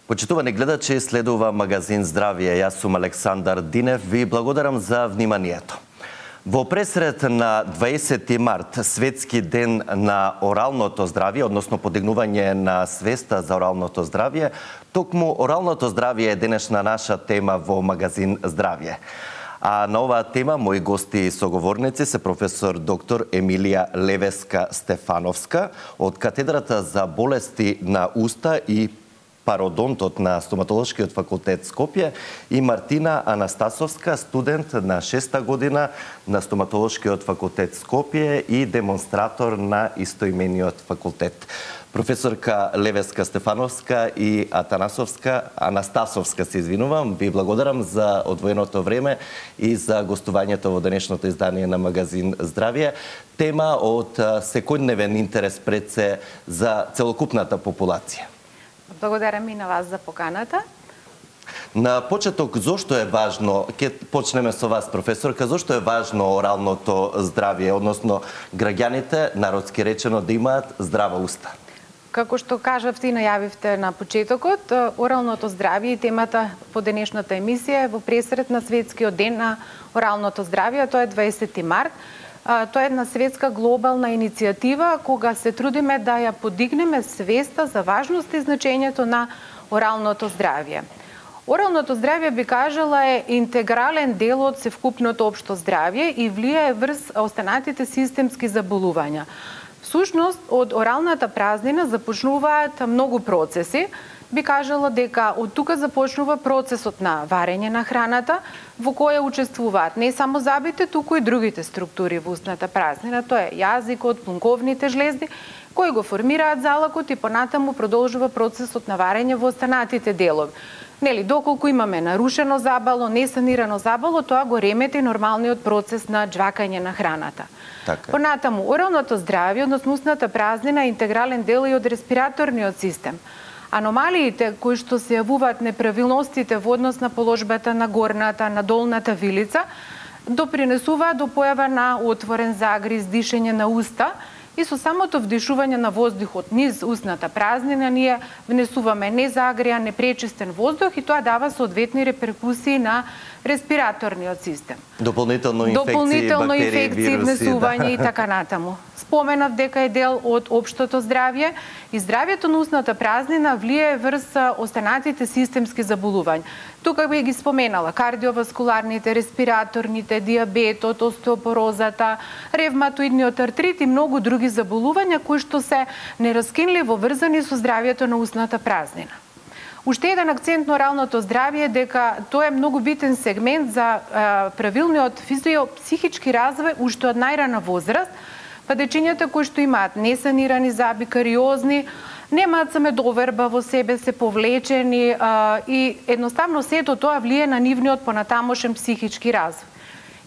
Почитувани гледачи, следува магазин Здравје. Јас сум Александар Динев. Ви благодарам за вниманието. Во пресред на 20 март, светски ден на оралното здравје, односно подигнување на свеста за оралното здравје, токму оралното здравје е денешна наша тема во магазин Здравје. А на оваа тема мои гости и соговорници се професор доктор Емилија Левеска-Стефановска од катедрата за болести на уста и пародонтот на Стоматолошкиот факултет Скопје и Мартина Анастасовска, студент на 6-та година на Стоматолошкиот факултет Скопје и демонстратор на истоимениот факултет. Професорка Левеска-Стефановска и Анастасовска, се извинувам, ви благодарам за одвоеното време и за гостувањето во денешното издание на магазин Здравје. Тема од секојдневен интерес пред се за целокупната популација. Благодарам и на вас за поканата. На почеток, зошто е важно, ќе почнеме со вас, професорка, зошто е важно оралното здравје, односно граѓаните, народски речено, да имаат здрава уста? Како што кажавте и најавивте на почетокот, оралното здравје и темата по денешната емисија е во пресред на светскиот ден на оралното здравје, тоа е 20 март. Тоа е една светска глобална иницијатива кога се трудиме да ја подигнеме свеста за важност и значењето на оралното здравје. Оралното здравје, би кажала, е интегрален дел од севкупното општо здравје и влијае врз останатите системски заболувања. Всушност, од оралната празнина започнуваат многу процеси. Би кажала дека од тука започнува процесот на варење на храната, во која учествуваат не само зъбите, туку и другите структури во устната празнина. Тоа е јазикот, плунковните жлезди, кои го формираат залакот и понатаму продолжува процесот на варење во останатите делови. Нели, доколку имаме нарушено забало, несанирано забало, тоа го ремети нормалниот процес на џвакање на храната. Така. Понатаму, оралното здравје, односно устната празнина, е интегрален дел и од респираторниот систем. Аномалиите кои што се јавуваат, неправилностите во однос на положбата на горната, на долната вилица, допринесуваат до појава на отворен загриз, дишење на уста, и со самото вдишување на воздухот низ устната празнина ние внесуваме незагреан, непречистен воздух и тоа дава соодветни реперкусии на респираторниот систем. Дополнително инфекции, внесување и така натаму. Споменав дека е дел од општото здравје и здравјето на устната празнина влијае врз останатите системски заболувања. Тука би ги споменала кардиоваскуларните, респираторните, диабетот, остеопорозата, ревматоидниот артрит и многу други заболувања кои што се нераскинливо врзани со здравјето на устната празнина. Уште еден акцент на оралното здравје е дека тоа е многу битен сегмент за правилниот физиопсихички развој уште од најрана возраст, па дечињата кои што имаат несанирани зъби, кариозни, немаат самедоверба во себе, се повлечени и едноставно сето тоа влие на нивниот понатамошен психички развој.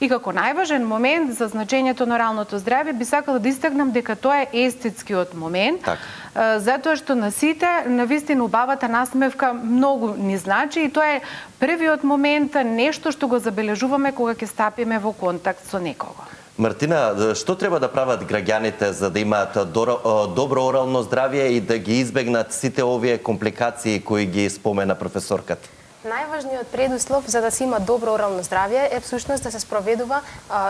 И како најважен момент за значењето на оралното здравје би сакала да истакнам дека тоа е естетскиот момент, затоа што на сите навистина убавата насмевка многу ни значи и тоа е првиот момент, нешто што го забележуваме кога ќе стапиме во контакт со некого. Мартина, што треба да прават граѓаните за да имаат добро орално здравје и да ги избегнат сите овие компликации кои ги спомена професорката? Најважниот предуслов за да се има добро орално здравје е всушност да се спроведува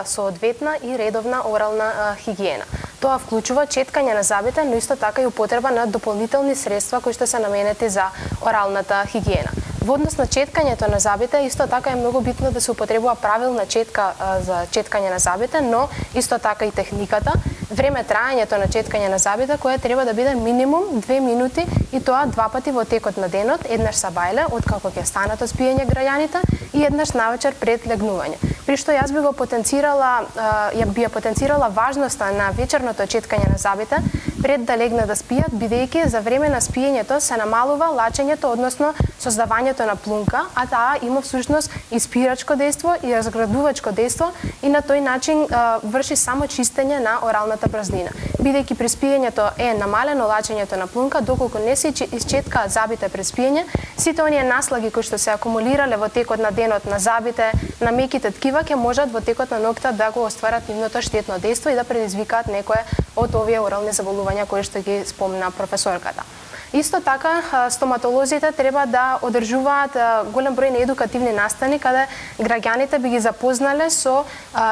соодветна и редовна орална хигиена. Тоа вклучува четкање на зъбите, но исто така и употреба на дополнителни средства кои што се наменети за оралната хигиена. Во однос на четкањето на зъбите, исто така е многу битно да се употребува правилна четка за четкање на зъбите, но исто така и техниката, време траењето на четкање на зъбите, која треба да биде минимум 2 минути и тоа 2 пати во текот на денот, еднаш са бајле, откако ќе станат од спиење граѓаните и еднаш навечер пред легнување. При што јас би ја потенцирала важноста на вечерното четкање на зъбите пред да легнат да спијат, бидејќи за време на спиењето се намалува лачењето, односно создавањето на плунка, а таа има всушност и спирачко дејство и разградувачко дејство и на тој начин врши само чистење на оралната празнина. Бидејќи при спиењето е намалено лачењето на плунка, доколку не се исчеткаат зъбите пред спиење, сите оние наслаги кои што се акумулирале во текот на денот на зъбите, на меките ткива, ќе можат во текот на ноќта да го остварат нивното штетно дејство и да предизвикаат некое од овие орални заболувања кои што ги спомна професорката. Исто така, стоматолозите треба да одржуваат голем број на едукативни настани каде граѓаните би ги запознале со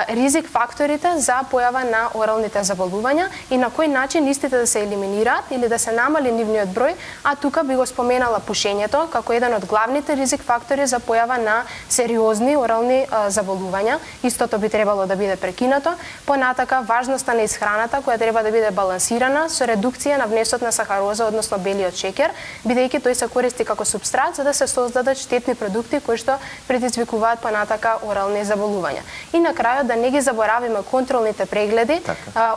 ризик факторите за појава на оралните заболувања и на кој начин истите да се елиминираат или да се намали нивниот број, а тука би го споменала пушењето како еден од главните ризик фактори за појава на сериозни орални заболувања. Истото би требало да биде прекинато. Понатака, важноста на исхраната која треба да биде балансирана со редукција на внесот на сахароза, односно белиот шеќер, бидејќи тој се користи како супстрат за да се создадат штетни продукти кои што предизвикуваат понатака орални заболувања. И на крајот да не ги заборавиме контролните прегледи,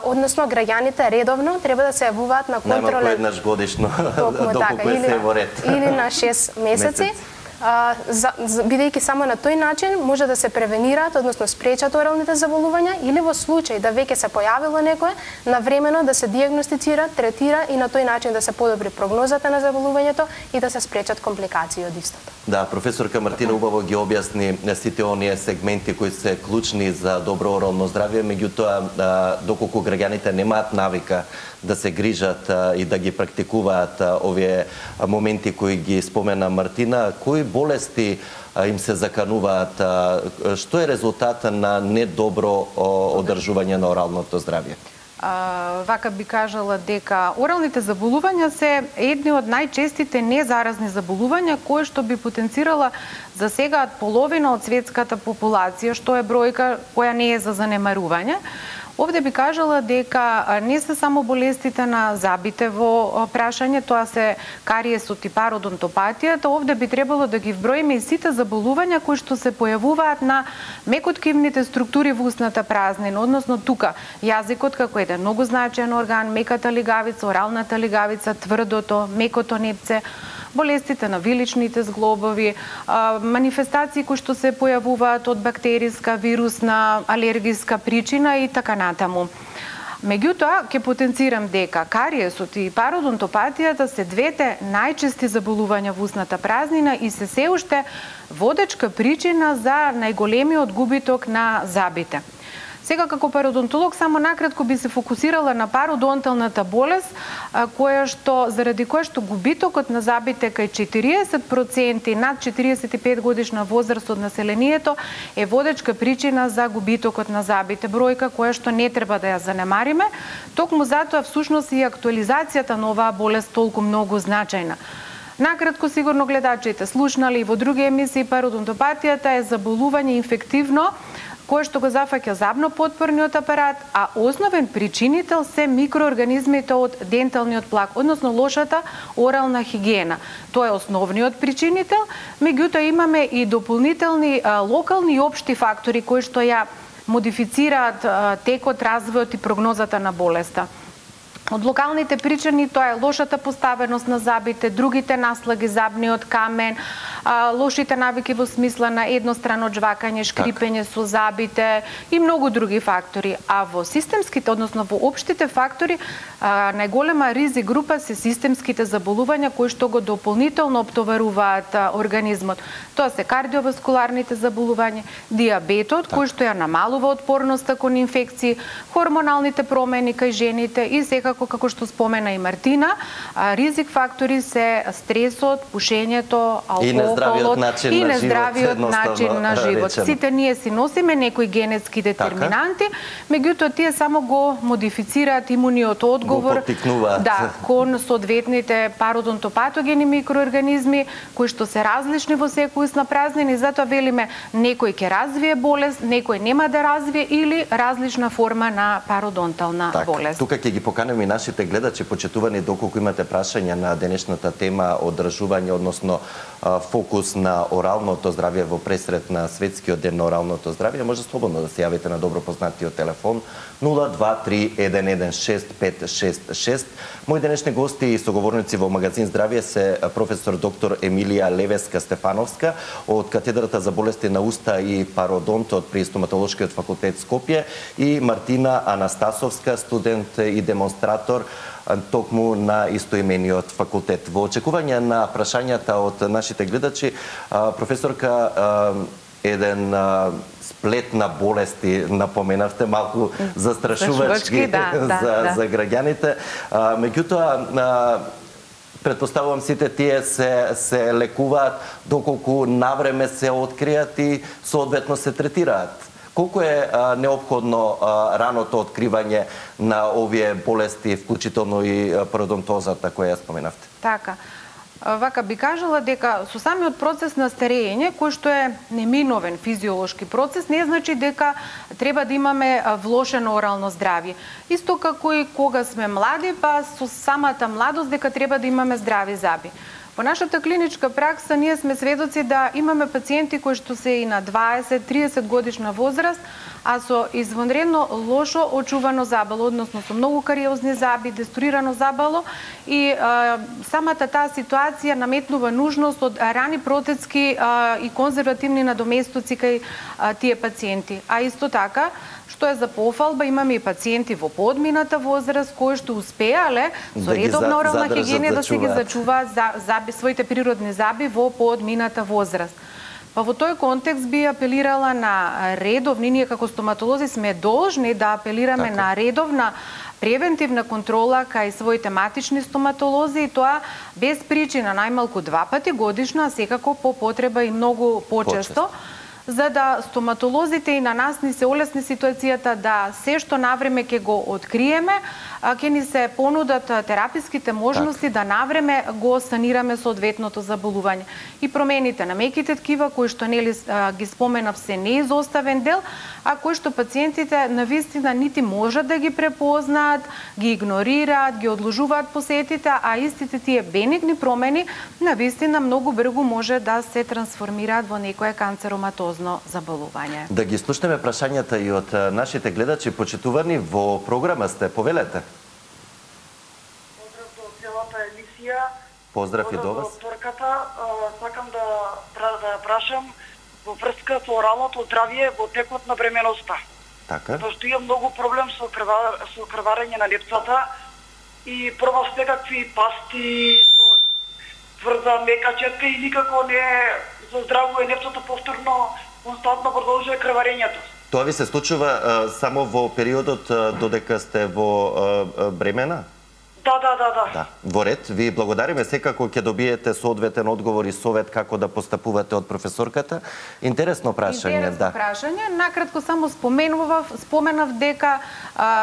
односно граѓаните редовно треба да се јавуваат на контролен најмалку еднаш годишно доколку е се во ред. Или на 6 месеци. Бидејќи само на тој начин може да се превенираат, односно спречат оралните заболувања или во случај да веќе се појавило некое, навремено да се дијагностицира, третира и на тој начин да се подобри прогнозата на заболувањето и да се спречат компликации од истото. Да, професорка Мартина убаво ги објасни сите оние сегменти кои се клучни за добро орално здравје, меѓутоа доколку граѓаните немаат навика да се грижат и да ги практикуваат овие моменти кои ги спомена Мартина, кои болести им се закануваат, што е резултатот на недобро одржување на оралното здравје? Вака би кажала дека оралните заболувања се едни од најчестите незаразни заболувања кои што би потенцирала за сега половина од светската популација, што е бројка која не е за занемарување. Овде би кажала дека не се само болестите на забите во прашање, тоа се кариесот и пародонтопатијата, овде би требало да ги вброиме и сите заболувања кои што се појавуваат на мекоткивните структури во устната празнина, односно тука јазикот како еден многу значаен орган, меката лигавица, оралната лигавица, тврдото, мекото непце, болестите на виличните зглобови, манифестации кои што се појавуваат од бактериска, вирусна, алергиска причина и така натаму. Меѓутоа, ќе потенцирам дека кариесот и пародонтопатијата се двете најчести заболувања во устната празнина и се уште водечка причина за најголемиот губиток на забите. Сега како пародонтолог само накратко би се фокусирала на пародонталната болест, заради која што губитокот на забите кај 40% над 45 годишна возраст од населението е водечка причина за губитокот на забите, бројка која што не треба да ја занемариме. Токму затоа всушност и актуализацијата на оваа болест толку многу значајна. Накратко, сигурно гледачите слушнали и во други емисии, пародонтопатијата е заболување инфективно кое што го зафаќа забно-потпорниот апарат, а основен причинител се микроорганизмите од денталниот плак, односно лошата орална хигиена. Тоа е основниот причинител, меѓутоа имаме и дополнителни локални и општи фактори кои што ја модифицираат текот, развојот и прогнозата на болеста. Од локалните причини тоа е лошата поставеност на забите, другите наслаги, забниот камен, лошите навики во смисла на еднострано жвакање, шкрипење со забите и многу други фактори. А во системските, односно во општите фактори, најголема ризик група се системските заболувања кои што го дополнително оптоваруваат организмот. Тоа се кардиоваскуларните заболувања, диабетот кој што ја намалува отпорноста кон инфекции, хормоналните промени кај жените и секако како што спомена и Мартина, ризик фактори се стресот, пушењето, алкохолот и нездравиот начин на живот. Сите ние си носиме некои генетски детерминанти, меѓутоа тие само го модифицираат имуниот одговор кон соодветните пародонтопатогени микроорганизми кои што се различни во секој устна празнина и затоа велиме некој ќе развие болест, некој нема да развие или различна форма на пародонтална болест. Тука ќе ги поканеме и нашите гледачи, почитувани, доколку имате прашања на денешната тема одржување, односно фокус на оралното здравје во пресред на Светскиот ден на оралното здравје, може слободно да се јавите на добро познатиот телефон 023-116-566. Мои денешни гости и соговорници во магазин Здравје се професор доктор Емилија Левеска-Стефановска од катедрата за болести на уста и пародонтот при Стоматолошкиот факултет Скопје и Мартина Анастасовска, студент и демонстратор токму на истоимениот факултет. Во очекување на прашањата од нашите гледачи, професорка, еден сплет на болести напоменавте, малку застрашувачки за граѓаните. Меѓутоа, Предпоставувам сите тие се лекуваат доколку навреме се откријат и соодветно се третираат. Колку е неопходно раното откривање на овие болести, вклучително и пародонтозата која ја споменавте? Така. Вака би кажала дека со самиот процес на старење, кој што е неминовен физиолошки процес, не значи дека треба да имаме влошено орално здравје. Исто како и кога сме млади, па со самата младост дека треба да имаме здрави зъби. Во нашата клиничка пракса ние сме сведоци да имаме пациенти кои што се и на 20-30 годишна возраст, а со извонредно лошо очувано забало, односно со многу кариозни зъби, деструирано забало и самата таа ситуација наметнува нужност од рани протецки и конзервативни надоместоци кај тие пациенти. А исто така, што е за пофалба, имаме и пациенти во подмината возраст кои што успеале со редовна орална хигиена да се ги зачуваат своите природни зъби во подмината возраст. Па во тој контекст би апелирала на редовни, ние како стоматолози сме должни да апелираме на редовна превентивна контрола кај своите матични стоматолози и тоа без причина, најмалку 2 пати годишно, а секако по потреба и многу почесто, за да стоматолозите и на нас ни се олесни ситуацијата да се што навреме ќе го откриеме, ќе ни се понудат тераписките можности да навреме го санираме соодветното заболување. И промените на меките ткива, кои што нели ги споменав, се неизоставен дел, а кои што пациентите навистина нити можат да ги препознаат, ги игнорираат, ги одложуваат посетите, а истите тие бенигни промени навистина многу брзо може да се трансформираат во некое канцероматозно заболување. Да ги слушнеме прашањата и од нашите гледачи. Почитувани, во програма сте, повелете. Поздрав до целата емисија. Поздрав и до вас. Докторката, сакам да прашам во врска со оралното здравје во текот на бременоста. Така. Зашто имам многу проблем со крварење на лепцата и пробав секакви пасти со тврда мека четка и никако не заздравува лепцата, повторно константно продолжува крварењето. Тоа ви се случува само во периодот додека сте во бремена? Да. Во ред, ви благодариме, секако ќе добиете соодветен одговор и совет како да постапувате од професорката. Интересно прашање, да. Прашање, накратко само споменав дека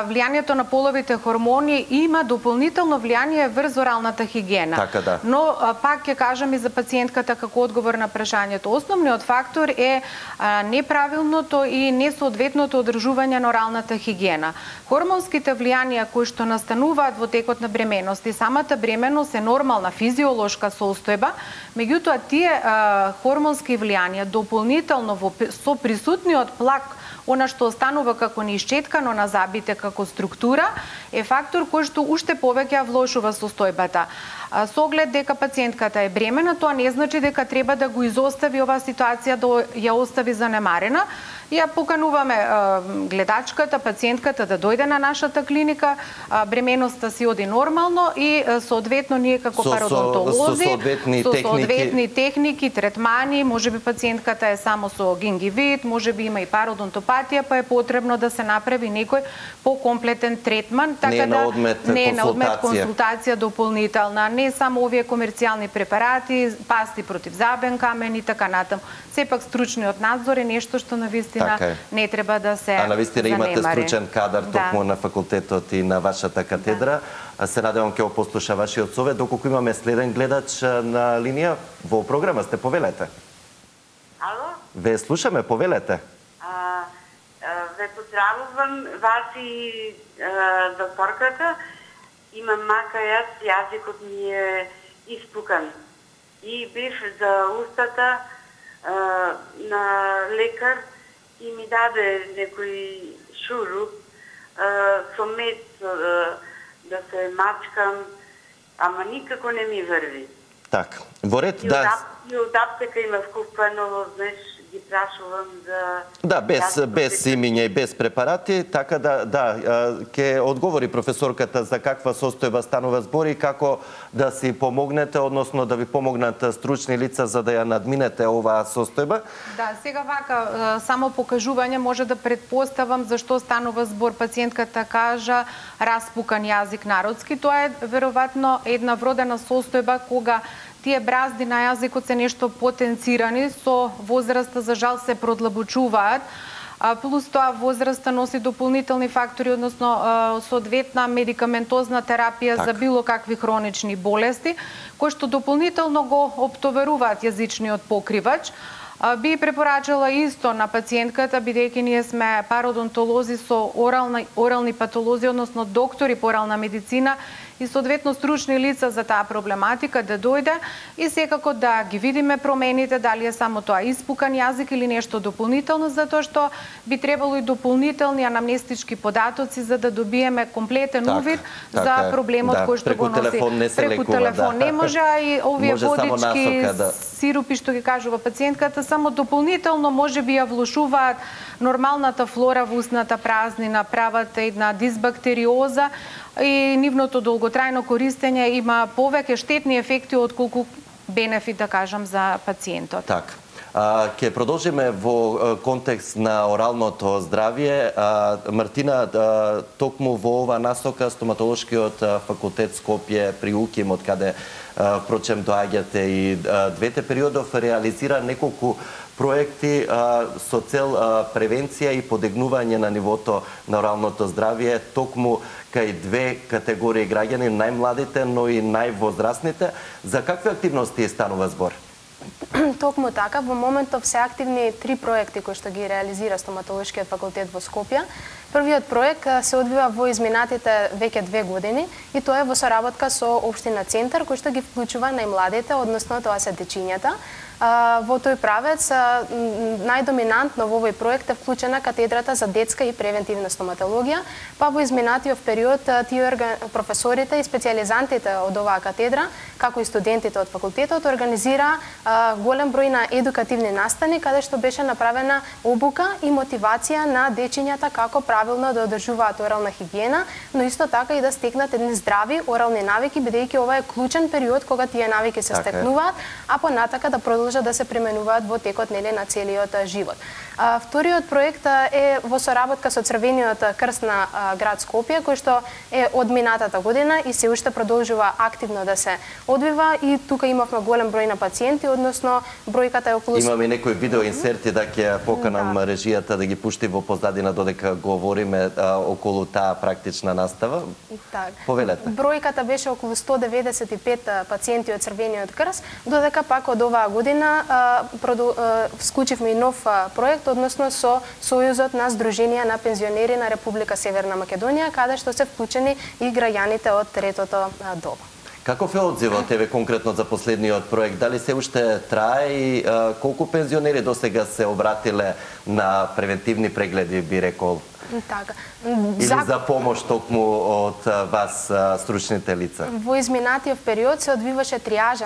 влијанието на половите хормони има дополнително влијание врз оралната хигиена. Така да. Но пак ќе кажам и за пациентката како одговор на прашањето. Основниот фактор е неправилното и несоодветното одржување на оралната хигиена. Хормонските влијанија кои што настануваат во текот на бременост и самата бременост е нормална физиолошка состојба, меѓутоа тие хормонски влијанија дополнително со присутниот плак, она што останува како неисчеткано на зъбите како структура, е фактор кој што уште повеќе влошува состојбата. Со оглед дека пациентката е бремена, тоа не значи дека треба да го изостави оваа ситуација, да ја остави занемарена. Ја покануваме гледачката, пациентката да дојде на нашата клиника, бременоста си оди нормално и соодветно ние како пародонтолози со соодветни техники, третмани, можеби пациентката е само со гингивит, можеби има и пародонтопатија, па е потребно да се направи некој покомплетен третман, така да не е на одмет консултација дополнителна, не само овие комерцијални препарати, пасти против забен камен и така натаму. Сепак стручниот надзор е нешто што навистина не треба да се занемари. А навистина имате стручен кадар токму на факултетот и на вашата катедра. Се надевам ќе го послуша вашиот совет. Доколку имаме следен гледач на линија, во програма сте, повелете. Ало? Ве слушаме, повелете. Ве поздравувам вас и докторката. Имам мака јазикот ми е испукан. И бив за устата на лекар и ми даде некој шуруп со мед да се мачкам, ама никако не ми врви. Така, во ред, да. И од аптека имав купено, знаеш, ги прашувам за... Да, без имиња и без препарати, така ќе одговори професорката за каква состојба станува збор и како да си помогнете, односно да ви помогнат стручни лица за да ја надминете оваа состојба. Да, сега вака, само покажување може да предпоставам зашто станува збор. Пациентката кажа распукан јазик народски. Тоа е веројатно една вродена состојба кога тие бразди на јазикот се нешто потенцирани, со возраста за жал се продлабочуваат. Плюс тоа возраста носи дополнителни фактори, односно соодветна медикаментозна терапија за било какви хронични болести, кои што дополнително го оптоваруваат јазичниот покривач. Би препорачала исто на пациентката, бидејќи ние сме пародонтолози со орални патолози, односно доктори по орална медицина и соодветно стручни лица за таа проблематика, да дојде и секако да ги видиме промените, дали е само тоа испукан јазик или нешто дополнително, затоа што би требало и дополнителни анамнестички податоци за да добиеме комплетен увид за проблемот кој што го носи. Преку телефон не може, а и овие водички, сирупи што ги кажува пациентката, само дополнително може би ја влошуваат нормалната флора во устната празнина, прават една дисбактериоза и нивното долготрајно користење има повеќе штетни ефекти отколку бенефит, да кажам, за пациентот. Така. Ќе продолжиме во контекст на оралното здравје. Мартина, токму во ова насока стоматолошкиот факултет Скопје при УКИМ, од каде впрочем доаѓате и двете периодов, реализира неколку проекти со цел превенција и подигнување на нивото на оралното здравје, токму кај две категории граѓани, најмладите, но и највозрастните. За какви активности станува збор? Токму така, во моментов се активни 3 проекти кои што ги реализира стоматолошкиот факултет во Скопје. Првиот проект се одвива во изминатите веќе 2 години и тоа е во соработка со општина Центар, кој што ги вклучува најмладите, односно тоа се дечињата. Во тој правец најдоминантно во овој проект е вклучена катедрата за детска и превентивна стоматологија, па во изминатиот период професорите и специјализантите од оваа катедра, како и студентите од факултетот, организира голем број на едукативни настани, каде што беше направена обука и мотивација на дечињата како правилно да одржуваат орална хигиена, но исто така и да стекнат едни здрави орални навики, бидејќи ова е клучен период кога тие навики се стекнуваат, а понатака да продолжат да се применуваат во текот на целиот живот. Вториот проект е во соработка со Црвениот крст на град Скопје, кој што е од минатата година и се уште продолжува активно да се одвива и тука имавме голем број на пациенти, односно бројката е околу... Имаме некои видеоинсерти да ќе поканам режијата да ги пушти во позадина додека говориме околу таа практична настава. Повелете. Бројката беше околу 195 пациенти од Црвениот крст, додека пак од оваа година вклучивме и нов проект, односно со Сојузот на Сдруженија на пензионери на Република Северна Македонија, каде што се вклучени и граѓаните од третото доба. Каков е одзивот тебе конкретно за последниот проект? Дали се уште трае и колку пензионери досега се обратиле на превентивни прегледи, би рекол? Така. Или за помош токму од вас, стручните лица? Во изминатиот период се одвиваше триажа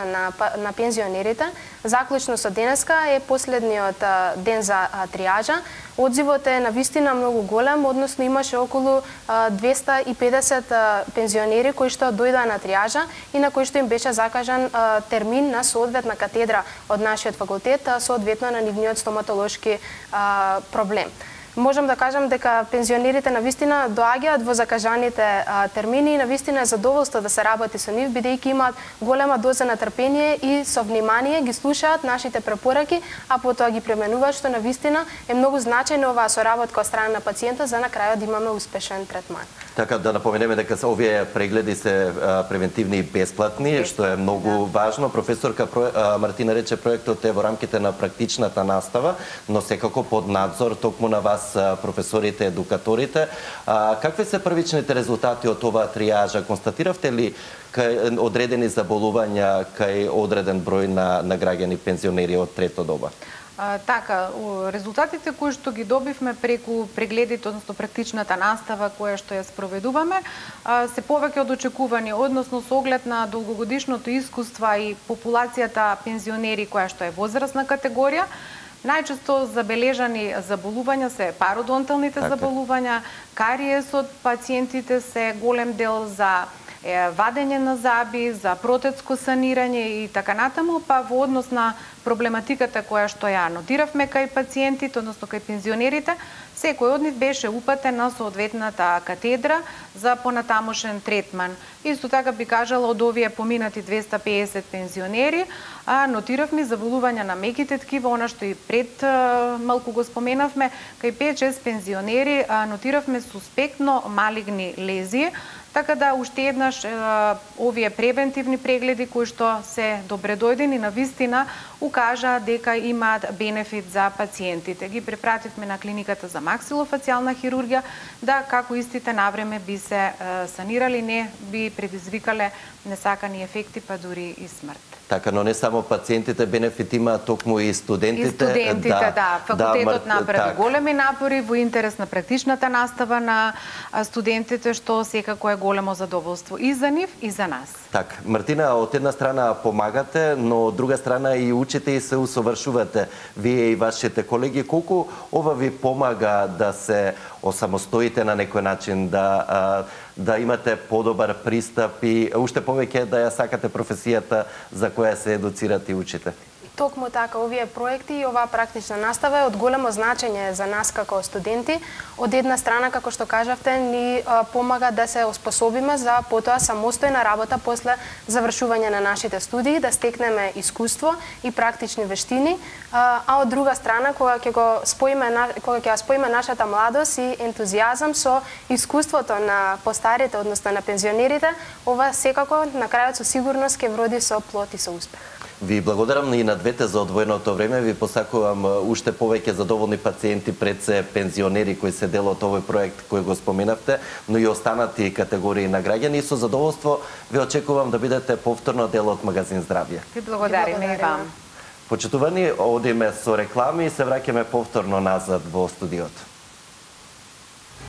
на пензионерите. Заклучно со денеска е последниот ден за триажа. Одзивот е навистина многу голем, односно имаше околу 250 пензионери кои што дојдоа на триажа и на кои што им беше закажан термин на соодветна катедра од нашиот факултет, соодветно на нивниот стоматолошки проблем. Можам да кажам дека пензионерите навистина доаѓаат во закажаните термини и навистина е задоволство да се работи со нив, бидејќи имаат голема доза на трпение и со внимание ги слушаат нашите препораки, а потоа ги применуваат, што навистина е многу значајно оваа соработка од страна на пациентот за на крајот да имаме успешен третман. Така да напоменеме дека овие прегледи се превентивни и бесплатни, што е многу важно. Професорка Мартина рече проектот е во рамките на практичната настава, но секако под надзор токму на вас, професорите, едукаторите. Какви се првичните резултати од оваа триажа? Констатиравте ли кај одредени заболувања кај одреден број на граѓани пензионери од трето доба? Така, резултатите кои што ги добивме преку прегледите, односно практичната настава која што ја спроведуваме, се повеќе од очекувани, односно со оглед на долгогодишното искуство и популацијата пензионери која што е возрастна категорија. Најчесто забележани заболувања се пародонталните заболувања, кариесот, пациентите се голем дел за вадење на заби, за протетско санирање и така натаму, па во однос на проблематиката која што ја нотиравме кај пациентите, односно кај пензионерите, секој од нив беше упатен на соодветната катедра за понатамошен третман. Исто така би кажала, од овие поминати 250 пензионери, нотиравме заболувања на меките ткива, она што и пред малку го споменавме, кај 5-6 пензионери нотиравме суспектно малигни лезии, така да уште еднаш овие превентивни прегледи кои што се добредојдени на вистина укажа дека имаат бенефит за пациентите. Ги препративме на клиниката за максилофацијална хирургија да како истите навреме би се санирали, не би предизвикале несакани ефекти, па дури и смрт. Така, но не само пациентите бенефит има, токму и студентите. И студентите, да. Факултетот направи големи напори во интерес на практичната настава на студентите, што секако е големо задоволство и за нив, и за нас. Така, Мартина, од една страна помагате, но од друга страна и учите и се усовршувате. Вие и вашите колеги, колку ова ви помага да се осамостоите на некој начин, да имате подобар пристап и уште повеќе да ја сакате професијата за која се едуцирате и учите? Токму така, овие проекти и оваа практична настава е од големо значење за нас како студенти. Од една страна, како што кажавте, ни помага да се оспособиме за потоа самостојна работа после завршување на нашите студии, да стекнеме искуство и практични вештини, а од друга страна, кога ќе споиме нашата младост и ентузијазам со искуството на постарите, односно на пензионерите, ова секако на крајот со сигурност ќе вроди со плод и со успех. Ви благодарам и на двете за одвоеното време. Ви посакувам уште повеќе задоволни пациенти, пред се пензионери кои се дел од овој проект кој го споменавте, но и останати категории на граѓани. И со задоволство ви очекувам да бидете повторно дел од Магазин Здравје. Ви благодариме и вам. Почитувани, одиме со реклами и се враќаме повторно назад во студиото.